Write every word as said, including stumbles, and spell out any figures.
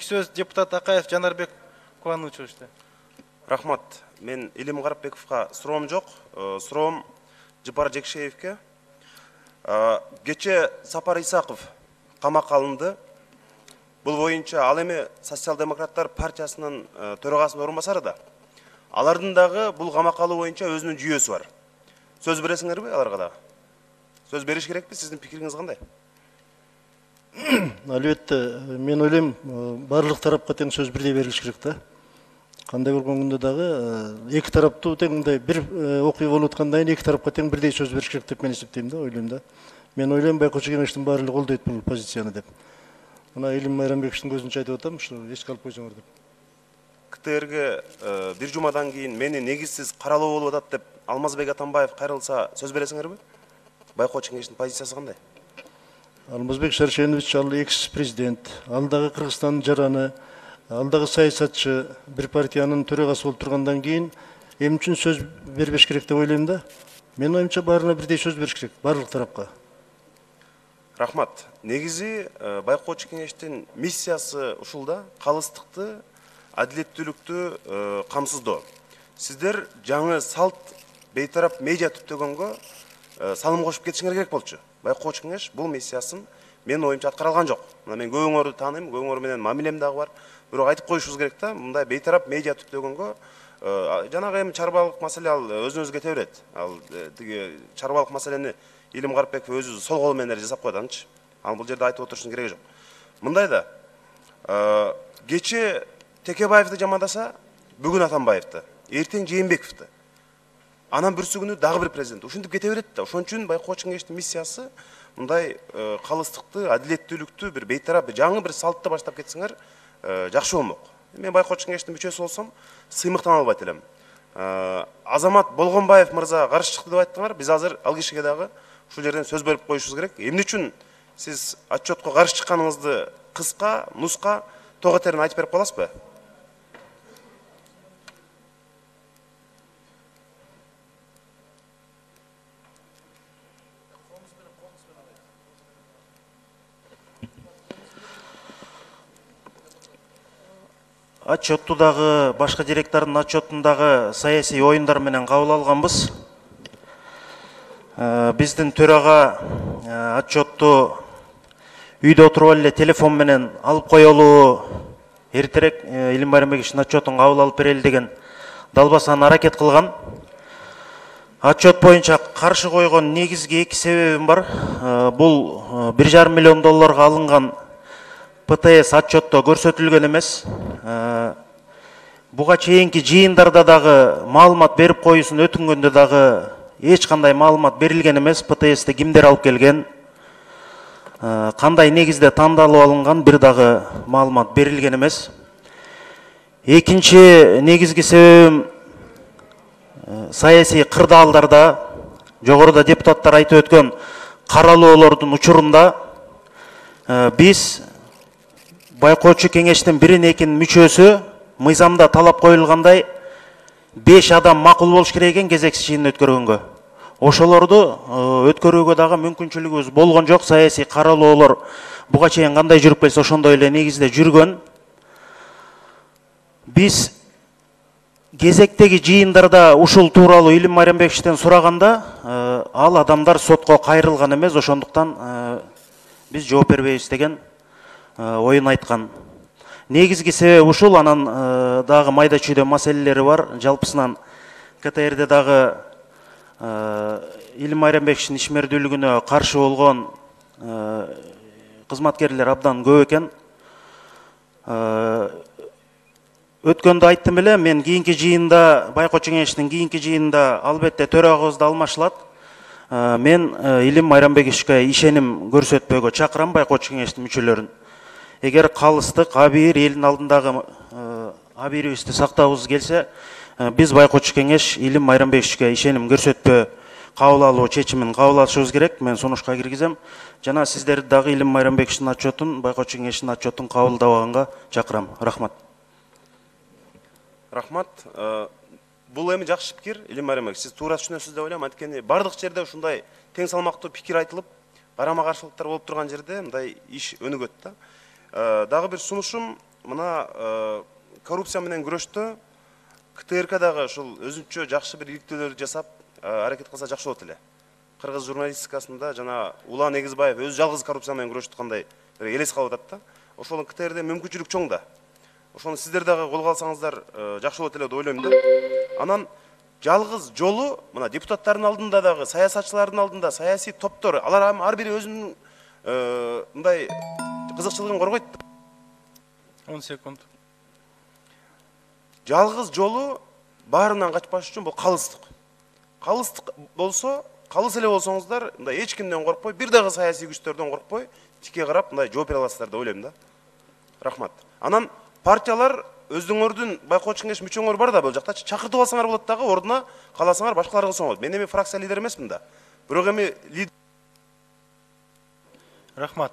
Кийинки сөз депутат Акаев Жанарбек Кубанычевичте. Рахмат. Мен Илим Карапбековго суроом жок. Суроом Жапар Жекшеевке. Кече Сапар Исаков камакка алынды. Бул боюнча ал эми Социал-демократтар партиясынын төрагасынын орун басары да. Алардын дагы бул камакка алуу боюнча өзүнүн жүйөсү бар. Сөз бересиңерби аларга дагы? Сөз бериш керекпи? Сиздин пикириңиз кандай? Албетте, мен ойлойм, барлык тарапка тең сөз бирдей берилиш керек да. Кандай болгон күндө дагы эки тараптуу тең мындай бир окуя болуп аткандан кийин эки тарапка тең бирдей сөз бериш керек деп мен эсептейм да, ойлойм да. Мен ойлойм байкоочу кеңештин баары колдойт бул позицияны деп. Мына Илим Майрамбековичтин көзүнчө айтып атам, ушу эске алып койсоңор деп. КТРге бир жумадан кийин мени негизсиз каралуу болуп атат деп Алмазбек Атамбаев кайрылса сөз бересиңерби? Байкоочу кеңештин позициясы кандай? Алмазбек Шаршенович ал экс-президент, ал дагы Кыргызстандын жараны, ал дагы саясатчы, бир партиянын төрагасы болуп тургандан кийин эмне үчүн сөз бербеш керек деп ойлойм да. Менин оюмча баарына бирдей сөз бериш керек, барлык тарапка. Рахмат. Негизи байкоочу кеңештин миссиясы ушул да, калыстыкты, адилеттүүлүктү камсыздоо. Сиздер жаңы салт бейтарап медиа түптөгөнгө салым кошуп кетишиңер керек болчу. Байкоочу кеңеш бул миссиясын менин оюмча аткарылган жок. Мына мен көбүңөрдү тааныйм, көбүңөр менен мамилем дагы бар. Бирок айтып коюшубуз керек да, мындай бейтарап медиа түптөгөнгө жанагы эми чарбалык маселе ал өзүнүзгө кете берет. Ал тиги чарбалык маселени Илим Карапбеков өзү сол кол менен жасап койду анчы. Ал бул жерде айтып отурушунун кереги жок. Мындай да, кече Текебаевди жамандаса, бүгүн Атамбаевди, эртең Жээнбековду. Анан бүрсү күнү дагы бир президент. Ушинтип кете берет да. Ошон үчүн байкоочу кеңештин миссиясы мындай калыстыкты, адилеттүүлүктү бир бейтарап жаңы бир салтты баштап кетсеңер жакшы болмок. Мен байкоочу кеңештин мүчөсү болсом, сыймыктан албайт элем. Азамат Болгонбаев мырза каршы чыкты деп айттыңар. Биз азыр ал кишиге дагы ушул жерден сөз берип коюшубуз керек. Эмне үчүн сиз отчетко каршы чыкканыңызды кыска, нуска, тоготерин айтып берип каласызбы? Отчетту дагы башка директордун отчетундагы саясий оюндар менен кабыл алганбыз. Биздин төрага отчетту үйдө отуруп эле телефон менен алып коелу, эртерээк Илим Майрамбековичтин отчетун кабыл алып берели деген далбасаны аракет кылган. Отчет боюнча каршы койгон негизги эки себебим бар. Бул бир жарым миллион долларга алынган ПТС отчетто көрсөтүлгөн эмес. Буга чейинки жыйындарда дагы маалымат берип коюусун өтүнгөндө дагы эч кандай маалымат берилген эмес. ПТСти кимдер алып келген, кандай негизде тандалып алынган бир дагы маалымат берилген эмес. Экинчи негизги себебим саясий кырдаалдарда, жогоруда депутаттар айтып өткөн каралоолордун учурунда биз байкоочу кеңештин бирин экинин мүчөсү мыйзамда талап коюлгандай беш адам макул болуш керек экен кезексиз жыйын өткөргөнгө. Ошолорду өткөрүүгө дагы мүмкүнчүлүгүбүз болгон жок. Саясий каралоолор буга чейин кандай жүрүп келсе ошондой эле негизде жүргөн. Биз кезектеги жыйындарда ушул тууралуу Илим Майрамбековичтен сураганда ал адамдар сотко кайрылган эмес, ошондуктан биз жооп бербейбиз деген оюн айткан. Негизги себеби ушул. Анан дагы майда чүйдө маселелери бар. Жалпысынан КТРде дагы Илим Майрамбековичтин ишмердүүлүгүнө каршы болгон кызматкерлер абдан көп экен. Өткөндө айттым эле, мен кийинки жыйында, байкоочу кеңештин кийинки жыйында албетте төрагыбызды алмашылат. Мен Илим Майрамбековичке ишеним көрсөтпөөгө чакырам байкоочу кеңештин мүчөлөрүн. Эгер калыстык, абийир, элдин алдындагы абийирибизди сактабыз келсе, биз байкоочу кеңеш Илим Майрамбековичке ишеним көрсөтпөө кабыл алуу чечимин кабыл алышыбыз керек. Мен сунушка киргизем. Жана сиздерди дагы Илим Майрамбековичтин отчетун, байкоочу кеңештин отчетун кабылдабаганга чакырам. Рахмат. Рахмат. Бул эми жакшы пикир, Илим Майрамбекович. Сиз туура түшүнөсүз деп ойлойм. Анткени бардык жерде ушундай тең салмактуу пикир айтылып, карама каршылыктар болуп турган жерде мындай иш өнүгөт да. Дагы бир сунушум, мына э, коррупция менен күрөштө КТРКдагы ушул өзүнчө жакшы бир иликтөөлөрдү жасап э, аракет кылса жакшы болот эле. Кыргыз журналистикасында жана Улан Эгизбаев өзү жалгыз коррупция менен күрөшүп аткандай бир элес калып атат да. Ошол КТРде мүмкүнчүлүк чоң да. Ошону сиздер дагы колго алсаңыздар э, жакшы болот эле деп ойлойм да. Анан жалгыз жолу мына депутаттардын алдында дагы, саясатчылардын алдында саясий топтор, алар ар бири өзүнүн э, мындай кызыкчылыгын коргойт. он секунд. Жалгыз жолу баарынан качпаш үчүн бул калыстык. Калыстык болсо, калыс эле болсоңуздар, мындай эч кимден коркпой, бир дагы саясий күчтөрдөн коркпой, тике карап мындай жооп бере аласыздар деп ойлойм да. Рахмат. Анан партиялар өздүңөрдүн байкоочу кеңеш мүчөңөр бар да бул жакта, чакыртып алсаңар болот дагы, ордуна кааласаңар башкалар кылсоңуз. Мен эми фракция лидери эмесмин да. Бирок эми Рахмат.